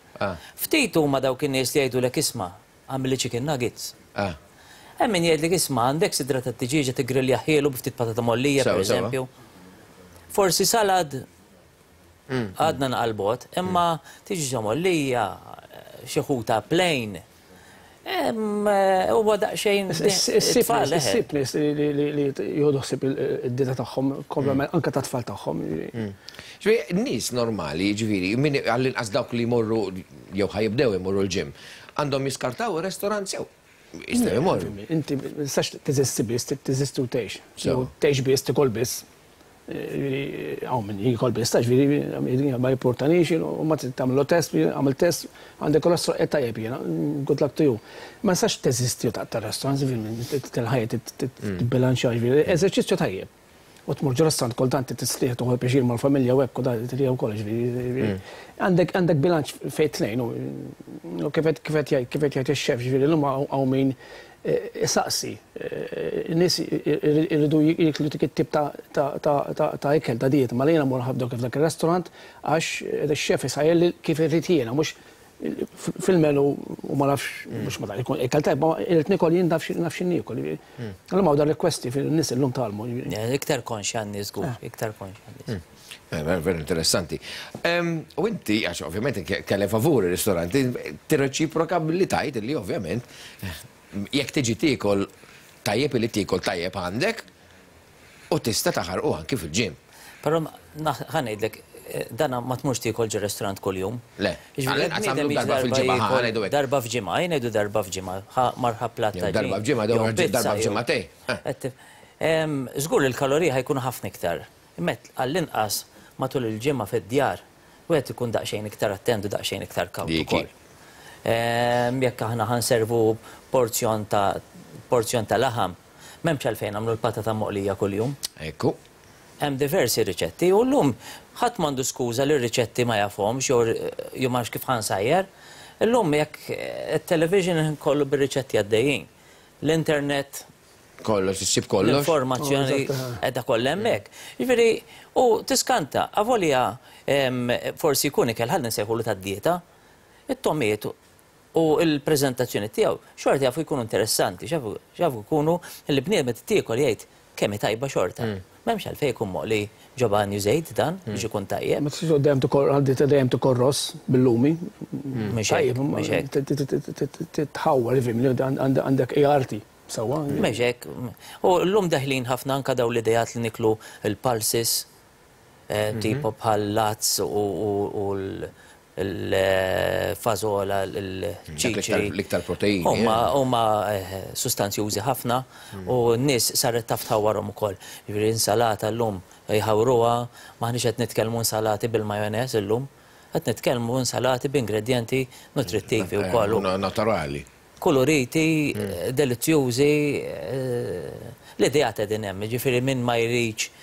Ftit huma dawk in-nies li jgħidulek isma' għamilli chicken nuggets. Hemm min jgħidlek isma' għandek sidra tat-tiġieġa tiggriljahielu bi ftit patata mgħollija pereżempju. Forsi salad għadna naqal bogħod, imma tiġieġa mgħollija, xi ħuta plain. Huwa daqsxejn it-tfal. Issib nies li jieħdu ħsieb id-dieta tagħhom kompletament anke tat-tfal tagħhom. Ġifieri nies normali, jiġifieri min għall-inqas dawk li jmorru jew ħa jibdew imorru l-gym, għandhom jiskartaw ir-restaurants jew jistgħu jmorru. Inti ma tistax teżisti biss, trid teżisti u tgħix. Jew tgħix biss, tikol biss. Jiġifieri hawn min jiekol biss, ta' ġifieri ma jimpurtanix, u ma trid tagħmillu test, għamil test, għandek kolesterol qiegħed tajjeb jiena, good luck to you. Ma nistax teżisti u taqta' restaurant, ġifieri il-ħajja tibbilanċja, ġifieri eżerċizzju tajjeb. U tmur ġo restaurant kultant tistrieħ tieħu pjaċir mal-familja u hekk u dan hija wkoll ġifieri. Għandek għandek bilanċ fejn tnejn u kif qed kif qed jgħid kif qed jgħid ix-xef ġifieri llum hawn min Isaqsi. In-nies iridu jieklu dik it-tip ta' ikel, ta' dieta. Mela jiena mmur ħafna f'dak ir-restaurant għax ix-chef isajjarli kif irrid jiena, mhux fil-menu u ma nafx, mhux ma ikun ikel tajjeb, ma irrid niekol jien naf x'in niekol. Illum hawn dar-rekwesti fin-nies illum tgħallmu. Iktar konxja n-nies żgur, iktar konxja n-nies. Vera interessanti. U inti, għax ovvjament kellek favur ir-ristoranti, tirreċiproka billi tgħid li ovvjament jekk tiġi tiekol tajjeb li tiekol tajjeb għandek u tista' taħarqu anki fil-gym. Però ħa ngħidlek, dana ma tmurx tiekol ġo restaurant kuljum. Le. Għall-inqas għamlu darba fil-ġimgħa, ħa ngħidu hekk. Darba f'ġimgħa, jien ngħidu darba f'ġimgħa, ħa mar ħa platt ta' Darba f'ġimgħa, darba f'ġimgħatejn. Żgur li l-kaloriji ħa jkunu ħafna iktar. Imma għall-inqas matul il-ġimgħa fid-djar, wieħed ikun daqsxejn iktar attent u daqsxejn iktar kawt ukoll. Jekk aħna ħa nservu porzjon ta' porzjon ta' laħam, m'hemmx għalfejn nagħmlu l-patata moqlija kuljum. Ekku. Hemm diversi riċetti u llum ħadd m'għandu skuża li r-riċetti ma jafhomx jew jew ma nafx kif ħa nsajjar. Illum jekk it-television kollu bir-riċetti għaddejjin. L-internet Kollox, issib kollox. L-informazzjoni qiegħda kollha hemmhekk. Jiġifieri, u tiskanta, avolja forsi jkun ikel ħalli nsejħulu tad-dieta, it-togħmiet u l-preżentazzjoni tiegħu xorta jafu jkunu interessanti, jafu jkunu li bniedem qed tiekol jgħid kemm hi tajba xorta. M'hemmx għalfejn ikun moqli ġo banju żejt dan biex ikun tajjeb. Ma tistax dejjem tikol għal dejjem tikol ross bil-lumi. Mhux hekk, mhux hekk. Titħawwar, ifhimni, għandek ART. Sewwa. Mhux hekk. U llum deħlin ħafna anke dawn l-ideat li niklu l-pulses, tipo bħal l-għads u l-fażola, l-ċiċri. L-iktar proteini. Huma sustanzjużi ħafna u n-nies saret taf tħawwarhom ukoll. Jiġifieri insalata llum jħawruha, m'aħniex qed nitkellmu insalati bil-majoneż illum, qed nitkellmu insalati b'ingredjenti nutrittivi wkoll. Naturali. Kuluriti, delizzjużi, l-ideat qegħdin hemm, jiġifieri min ma jridx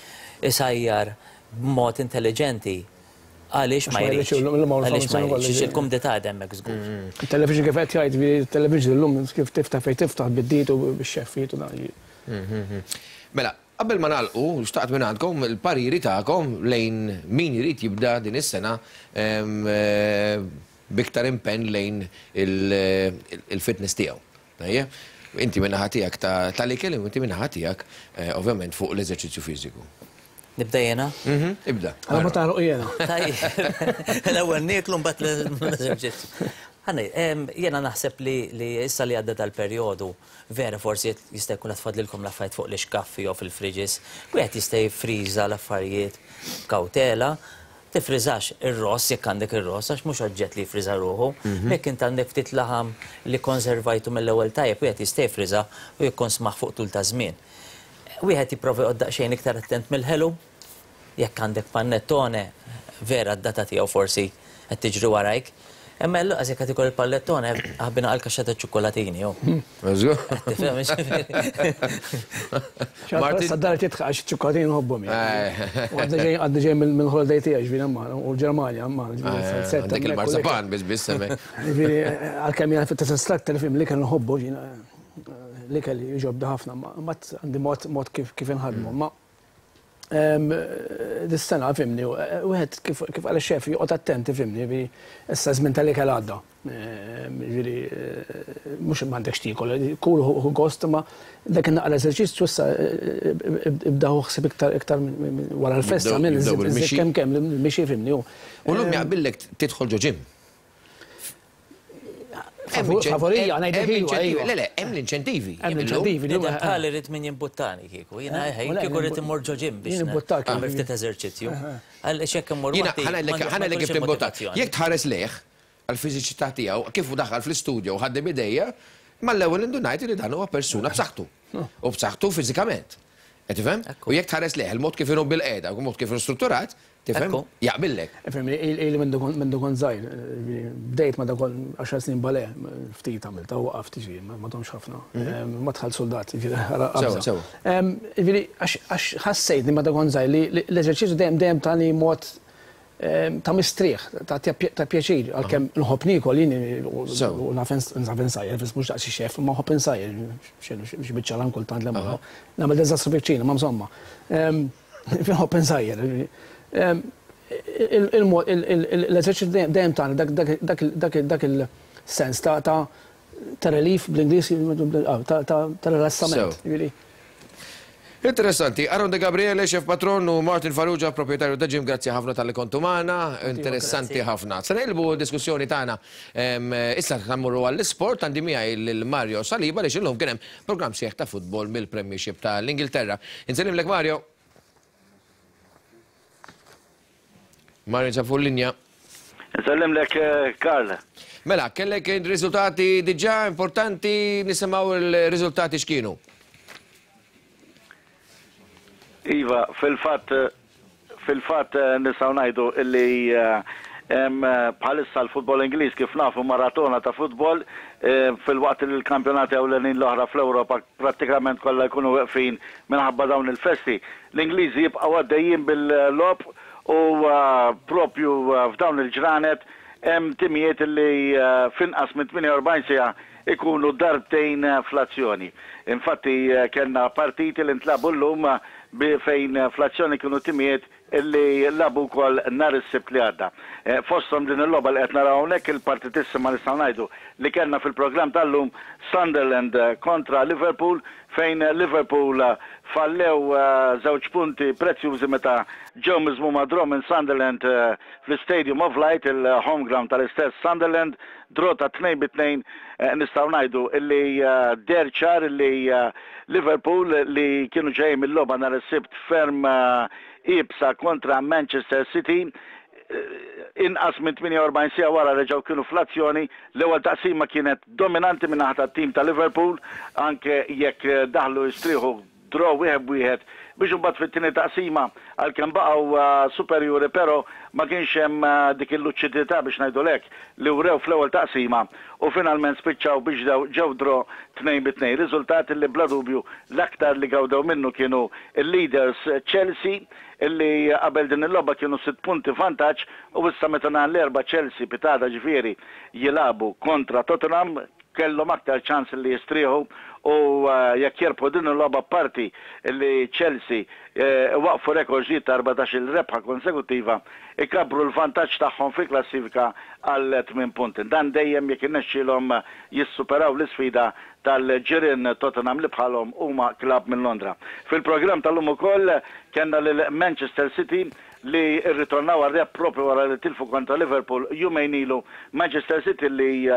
isajjar b'mod intelliġenti, għaliex ma jridx? Għaliex ma jridx? Għax il-kumdità qiegħda hemmhekk żgur. Il-television kif qed jgħid, il-television illum kif tiftaħ fejn tiftaħ bid-diet u bix-xeffijiet u dan. Mela, qabel ma nagħlqu, xtaqt mingħandkom il-pariri tagħkom lejn min irid jibda din is-sena b'iktar impenn lejn il-fitness tiegħu. Tajjeb? Inti min-naħa tiegħek tal-ikel u inti min-naħa tiegħek ovvjament fuq l-eżerċizzju fiżiku. Nibda jiena? Mhm, ibda. Għala ma taħroq jiena. Tajjeb. L-ewwel nieklu mbagħad l-eżerċizzju. Ħa ngħid, jiena naħseb li issa li għadda dal-perjodu, vera forsi jista' jkun qed tfadlilkom l-affarijiet fuq l-ixkaffi jew fil-fridges, wieħed jista' jiffriża l-affarijiet b'kawtela, Tiffriżax ir-ross jekk għandek ir-ross għax mhux oġġett li jiffriża ruħu. Jekk int għandek ftit laħam li kkonservajtu mill-ewwel tajjeb wieħed jista' jiffriżah u jikkonsmah fuq tul ta' żmien. Wieħed jipprova joqgħod daqsxejn iktar attent mill-ħelu. Jekk għandek panettone, vera d-data tiegħu forsi qed tiġri warajk. Imma lanqas jekk qed ikol il-pallettone, aħbina għal kaxxa ta' ċikkolatini, hu. Żgur. Qed tifhem, jiġifieri. Martin. Sa dar titħaq għax iċ-ċikkolatini nħobbhom jien. U għadni ġej għadni ġej mill-holiday tiegħi ġifieri hemm u l-Ġermanja hemm ġifieri. Għandek il-marzapan biss biss hemmhekk. Ġifieri għalkemm jiena fit instructor fim l-ikel nħobbu jiena l-ikel jogħġobni ħafna ma mbagħad għandi mod mod kif kif inħaddmu. Ma Dis-sena, fimni, wieħed kif qal ix-xef joqgħod attent, fimni, issa żmien tal-ikel għadda. Ġifieri mhux m'għandekx tiekol, kul hu gost imma dak in-naqra eżerċizzju issa ibda ħu ħsieb iktar iktar wara l-festa minn kemm kemm il-mixi fimni. U llum jaqbillek tidħol ġo gym. Favorija, ngħidlek iva, iva. Le, le, hemm l-inċentivi. Hemm l-inċentivi. Nidher bħal irid min jimbuttani kieku. Jiena eh, kieku rrid immur ġo gym biex nagħmel ftit eżerċizzju. Għaliex jekk immur waħdi. Ħa ngħidlek kif timbuttat. Jekk tħares lejh, għall-fiżiċità tiegħu, kif hu daħal fl-istudio u ħaddem idejja, mal-ewwel indunajt li dan huwa persuna b'saħħtu. U b'saħħtu fiżikament. Qed tifhem? U jekk tħares lejh, il-mod kif inhu bil-qiegħda, il-mod kif inhu strutturat, Tifhem? Jaqbillek. Ifhem, ili mindu kont żgħir, bdejt meta kont għaxar snin balè, ftit għamiltha u waqaft, jiġifieri ma domtx ħafna. Ma dħalt suldat, jiġifieri ara qabża. Sewa, sewa. Jiġifieri għax ħassejtni meta kont żgħir li l-eżerċizzju dejjem dejjem tani mod ta' mistrieħ, ta' pjaċir, għalkemm nħobb niekol jien u naf insajjar, mhux daqs xi xef, imma nħobb insajjar, xi biċċa laħam kultant li nagħmel diżastru fil-kċina, ma insomma. Nħobb insajjar. L-eżerċizzju dejjem tagħna dak il-sens ta' relief bl-Ingliż, ta' rilassament. Interessanti. Aaron De Gabriele, chef patron, u Martin Farrugia, proprjetarju ta' gym, grazzi ħafna talli kontu magħna. Interessanti ħafna. Se nqilbu d-diskussjoni tagħna issa mmorru għall-isport għandi miegħi lil Mario Saliba għaliex illum kien hemm Programm sħiħ ta' futbol mill-Premiership ta' l-Ingilterra. Insellimlek Mario. Mario jinsab fuq linja. Insellimlek Karl. Mela, kellek riżultati diġà importanti, nisimgħu l-riżultati x'kienu. Iva, fil-fatt fil-fatt nistgħu ngħidu illi. Bħalissa l-futbol Ingliż kif nafu maratona ta' futbol filwaqt li l-kampjonati ewlenin l-oħra fl-Ewropa prattikament kollha jkunu weqfin minħabba dawn il-festi. L-Ingliżi jibqgħu għaddejjin bil-logħob u propju f'dawn il-ġranet hemm timijiet li f'inqas minn 48 siegħa ikunu darbtejn fl-azzjoni. Infatti kellna partiti li ntlagħbu llum fejn fl-azzjoni kienu timijiet li lagħbu wkoll nhar is-Sibt li għadda. Fosthom din il-logħba li qed naraw hawnhekk, il-partitissima nistgħu ngħidu li kellna fil-programm tal-lum, Sunderland kontra Liverpool fejn Liverpool fallew żewġ punti prezzjużi meta ġew miżmuma draw minn Sunderland fl-Istadium of Light, il-home ground tal-istess Sunderland, draw ta' 2-2 nistgħu ngħidu li deher ċar li Liverpool li kienu ġejjin mil-logħba nhar is-Sibt ferm iebsa kontra Manchester City inqas minn 48 siegħa wara reġgħu kienu fl-azzjoni. L-ewwel taqsima kienet dominanti min-naħa tat-tim ta' Liverpool anke jekk daħlu jistrieħu draw 1-1 biex imbagħad fit-tieni taqsima għalkemm baqgħu superjuri però ma kienx hemm dik il-luċidità biex ngħidu hekk li wrew fl-ewwel taqsima u finalment spiċċaw biex ġew draw 2-2. Riżultat li bla dubju l-aktar li gawdew minnu kienu l-leaders Chelsea li qabel din il-logħba kienu 6 punti vantaġġ u issa meta nhar l-Erbgħa Chelsea pitgħada ġifieri jilagħbu kontra Tottenham kellhom aktar ċans li jistrieħu u jekk jirbħu din il-logħba apparti li Chelsea iwaqqfu rekord ġdid ta' 14-il rebħa konsekuttiva ikabbru l-vantaġġ tagħhom fil-klassifika għal tmien punti. Dan dejjem jekk irnexxielhom jissuperaw l-isfida tal-ġirien Tottenham li bħalhom huma klabb minn Londra. Fil-programm tal-lum ukoll kellna lil Manchester City li rritornaw għar-rebħ proprju wara li tilfu kontra Liverpool jumejn ilu. Manchester City li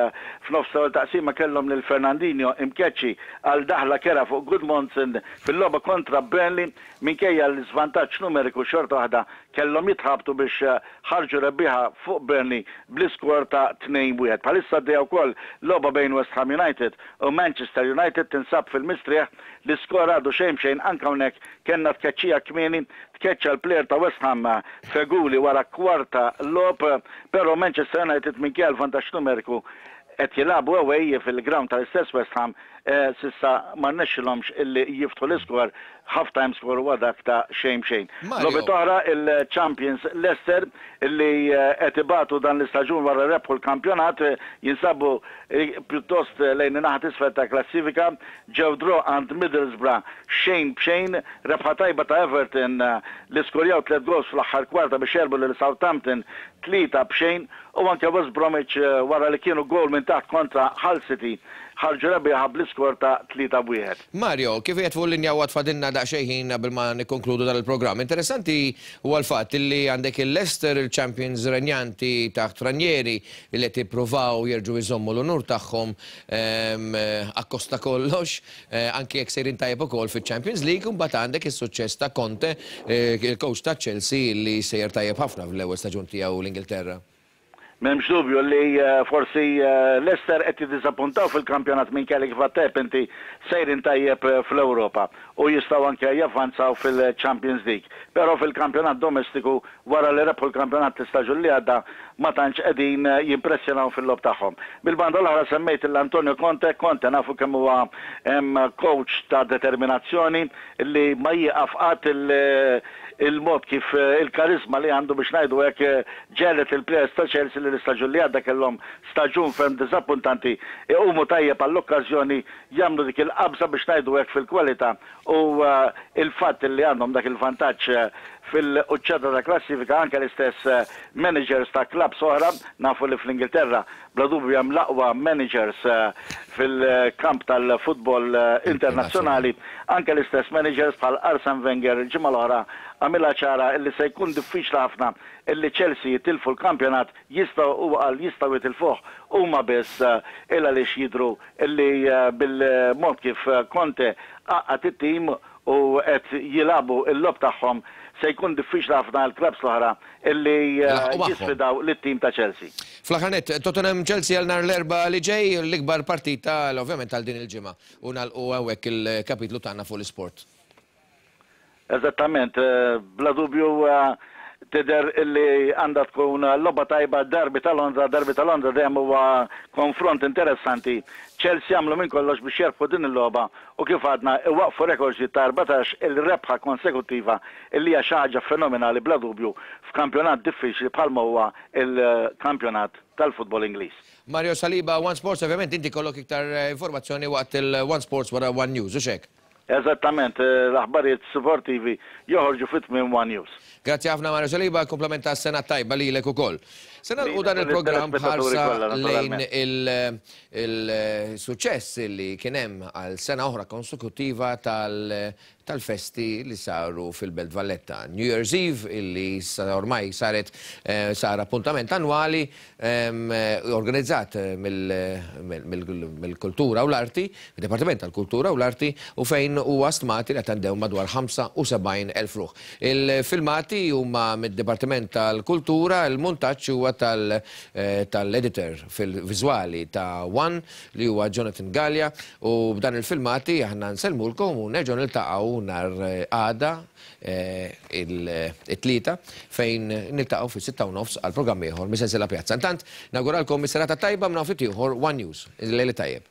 f'nofs l-ewwel taqsima kellhom lil Fernandinho imkeċċi għal daħla kerha fuq Gudmundsson fil-logħba kontra Burnley minkejja l-iżvantaġġ numeriku xorta waħda kellhom jitħabtu biex ħarġu rebbieħa fuq Burnley bl-iskor ta' 2-1. Bħalissa għaddejja wkoll logħba bejn West Ham United u Manchester United tinsab fil-mistrieħ. L-iskor għadu xejn b'xejn anke hawnhekk kellna tkeċċija kmieni, tkeċċa l-plejer ta' West Ham Feghouli wara kwarta logħob, però Manchester United minkejja l-vantaġġ numeriku qed jilagħbu away fil-ground tal-istess West Ham s'issa ma rnexxilhomx illi jiftħu l-iskor, half time score huwa dak ta' xejn b'xejn. Logħbiet oħra, il-champions Leicester illi qed ibatu dan l-istaġun wara rebħu l-kampjonat jinsabu pjuttost lejn in-naħa t'isfel tal-klassifika, ġew draw għand Middlesbrough xejn b'xejn, rebħa tajba ta' Everton li skurjaw tliet goals fl-aħħar kwarta biex għelbu lil Southampton 3-0 u anke West Bromwich wara li kienu goal minn taħt kontra Hull City ħarġu rebbieħa bl-iskor ta' 3-1. Mario, kif qiegħed fuq il-linja u għad fadilna daqsxejn ħin qabel ma nikkonkludu dan il-programm, interessanti huwa l-fatt li għandek il-Leicester, il-champions renjanti taħt Ranieri li qed jippruvaw jerġgħu jżommu l-unur tagħhom akkost ta' kollox, anki jekk sejrin tajjeb ukoll fiċ-Champions League, u mbagħad għandek is-suċċess ta' Conte, il-coach ta' Chelsea li sejjer tajjeb ħafna fl-ewwel staġun tiegħu l-Ingilterra. M'hemmx dubju li forsi Leicester qed jiddiżappuntaw fil-kampjonat minkejja li kif għedt tajjeb inti sejrin tajjeb fl-Ewropa u jistgħu anke javvanzaw fil-Champions League. Però fil-kampjonat domestiku wara li rebħu l-kampjonat l-istaġun li għadda ma tantx qegħdin jimpressjonaw fil-logħob tagħhom. Mill-banda l-oħra semmejt lil Antonio Conte, Conte nafu kemm huwa coach ta' determinazzjoni li ma jieqaf qatt Il-mod kif il-kariżma li għandu biex ngħidu hekk ġegħlet lill-plejers ta' Chelsea li l-istaġun li għadda kellhom staġun ferm diżappuntanti iqumu tajjeb għall-okkażjoni jagħmlu dik il-qabża biex ngħidu hekk fil-kwalità u l-fatt li għandhom dak il-vantaġġ fil-quċċata tal-klassifika anke l-istess managers ta' klabbs oħra nafu li fl-Ingilterra bla dubju hemm l-aqwa managers fil-kamp tal-futbol internazzjonali, anke l-istess managers bħal Arsene Wenger il-ġimgħa l-oħra għamilha ċara illi se jkun diffiċli ħafna illi Chelsea jitilfu l-kampjonat, jistgħu, huwa qal, jistgħu jitilfuh huma biss il għaliex jidhru illi bil-mod kif Conte għaqqad it-tim u qed jilagħbu l-logħob tagħhom se jkun diffiċli ħafna għall-klabbs l-oħra illi jisfidaw lit-tim ta' Chelsea. Fl-aħħar nett, Tottenham Chelsea għal nhar l-Erbgħa li ġej, l-ikbar partita ovvjament għal din il-ġimgħa. U nagħlqu hawnhekk il-kapitlu tagħna fuq l-isport. Eżattament, bla dubju Tidher illi għandha tkun logħba tajba derby ta' Londra, derby ta' Londra dejjem huwa konfront interessanti. Chelsea għamlu minn kollox biex jerbħu din il-logħba u kif għadna iwaqqfu rekord ġdid ta' 14 il rebħa konsekuttiva illi hija xi ħaġa fenomenali bla dubju f'kampjonat diffiċli bħalma huwa l-kampjonat tal-futbol Ingliż. Mario Saliba, One Sports, ovvjament inti jkollok iktar informazzjoni waqt il-One Sports wara One News, hux hekk? Eżattament, l-aħbarijiet sportivi joħorġu fi tmiem One News. Grazzi ħafna Mario Saliba, kumplament ta' sena tajba lilek ukoll. Se nagħlqu dan il-programm b'ħarsa lejn il-suċċess li kien hemm għal sena oħra konsekuttiva tal-festi li saru fil-Belt Valletta. New Year's Eve illi ormai saret sar appuntament annwali organizzat mill-Kultura u l-Arti, mid-Dipartiment tal-Kultura u l-Arti, u fejn huwa stmati li attendew madwar 75,000 ruħ. Il-filmati huma mid-Dipartiment tal-Kultura, il-muntaġġ huwa tal-editor fil-viżwali ta' One li huwa Jonathan Galea u b'dan il-filmati aħna nsellmulkom u nerġgħu niltaqgħu nhar għada it-Tlieta fejn niltaqgħu fis-6:30 għal programm ieħor mis-sensiela Pjazza. Intant, nawguralkom is-serata t-tajba minn hawn ftit ieħor One News. Il-lejl it-tajjeb.